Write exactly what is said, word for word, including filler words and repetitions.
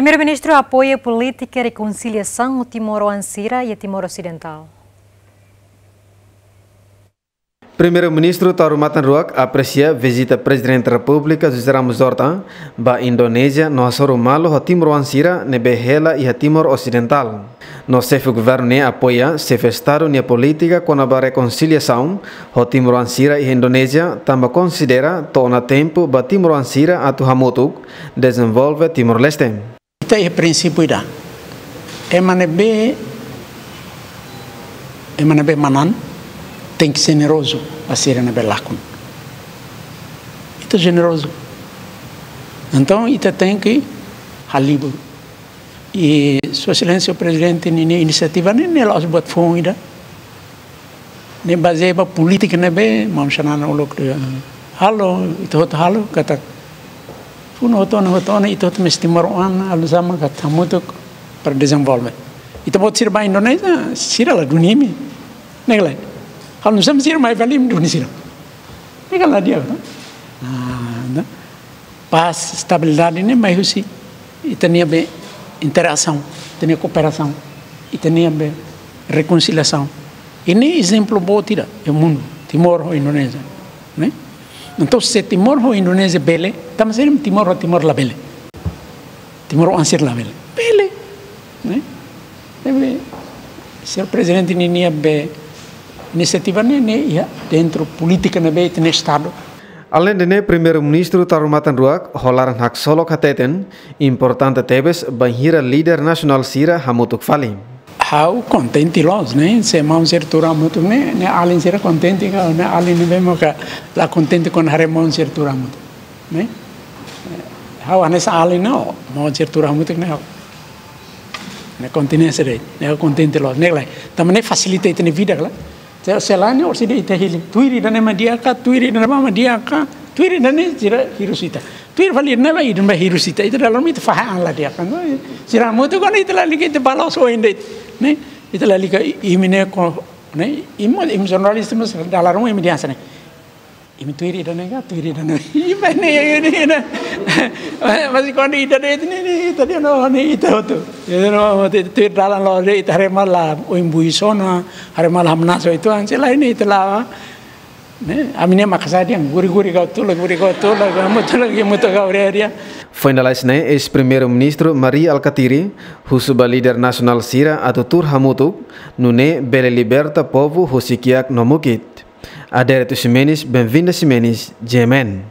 Primeiru-Ministru apoia polítika rekonsiliasaun ho timoroan sira iha Timor Osidentál. Primeiru-Ministru Taur Matan Ruak apresia vizita Prezidente Repúblika José Ramos Horta ba Indonézia no hasoru malu ho timoroan sira ne'ebé hela iha Timor Osidentál. No xefe governu ne'e apoia xefe Estadu nia polítika kona-ba rekonsiliasaun ho timoroan sira iha Indonézia, tanba konsidera to'o ona tempu ba timoroan sira atu hamutuk dezenvolve Timor-Leste. Ita iha prinsípiu ida. Ema ne'ebé, ema ne'ebé manán tenke jenerozu ba sira ne'ebé lakon. Ita jenerozu. Entaun, ita tenke halibur. I Sua Exelénsia Prezidente ninia inisiativa ne'e, ne'e la'ós buat foun ida. Ne'e bazeia ba polítika ne'ebé maun Xanana uluk dehan halo, ita hotu halo, katak funu hotu ona, hotu ona, ita hotu mós timoroan, halo sama katak hamutuk para dezenvolve. Ita-boot sira ba Indonézia, sira la duni imi. Ne'e ka lae? Halo nusá mak sira mai fali imi duni sira. Ne'e ka lae di'ak, no? Ah, no? Pás, estabilidade ne'e mai husi ita-nia be interasaun, ita-nia kooperasaun, ita-nia be rekonsiliasaun. I ne'e ezemplu boot ida iha mundu, Timor ho Indonézia, ne'e? Entaun, se Timor ho Indonézia bele, tanba saida Timor ho Timor labele? Timoroan sira labele? Bele, ne'e? Ne'ebé, señór Prezidente ninia be inisiativa ne'e, ne'e iha dentru polítika ne'ebé ita-nia Estadu. Aleinde ne'e, Primeiru-Ministru Taur Matan Ruak ho laran haksolok hateten, importante tebes bainhira líder nasionál sira hamutuk fali. Ha'u kontente loos, ne'e? Se maun sira tuur hamutuk ne'e, ne'e alin sira kontente ka, ne'e alin ne'ebé maka la kontente kuandu haree maun sira tuur hamutuk, ne'e? Ha'u hanesan alin, no, maun sira tuur hamutuk ne'e ha'u, ne'e kontente loos, ne'e ha'u kontente loos, ne'e ka lae? Tanba ne'e fasilita ita-nia vida ka lae? Se, se lae ne'e orsida ita hili. Tuir ida-ne'e mak di'ak ka, tuir ida-ne'ebá mak di'ak ka, tuir ida-ne'e sira hirus ita. Tuir fali ida-ne'ebá, ida-ne'ebá hirus ita. Ita dala ruma ita fahe an la di'ak ka. No, sira hamutuk kuandu ita lalika ita bá loos oin de'it, ne'e? Ita lalika i-, imi ne'e ko, ne'e? Imi, imi jornalista mós dala ruma imi dehan hanesan ne'e. Imi tuir ida-ne'e ka, tuir ida-ne'e. Imi ne'e, imi ne'e. Mas kuandu ida de'it ne'e, ne'e, ita dehan no, ne'e, ita hotu. Ita no, ita tuir dalan loos de'it, ita haree malu oin buis ona, haree malu hamnasa uitoan, se lae ne'e ita la'o. Ne'e, ami-nia makasadia, guri-guri kau tula, guri kau tula, guri kau tula, guri kau tula. Foin lalais ne'e, eis-Primeiru-Ministru Mari Alkatiri husu ba líder nasionál sira atu tuur hamutuk, nune'e bele liberta povu husi kiak no mukit. Adérito Ximenes, Benvinda Ximenes, G M N.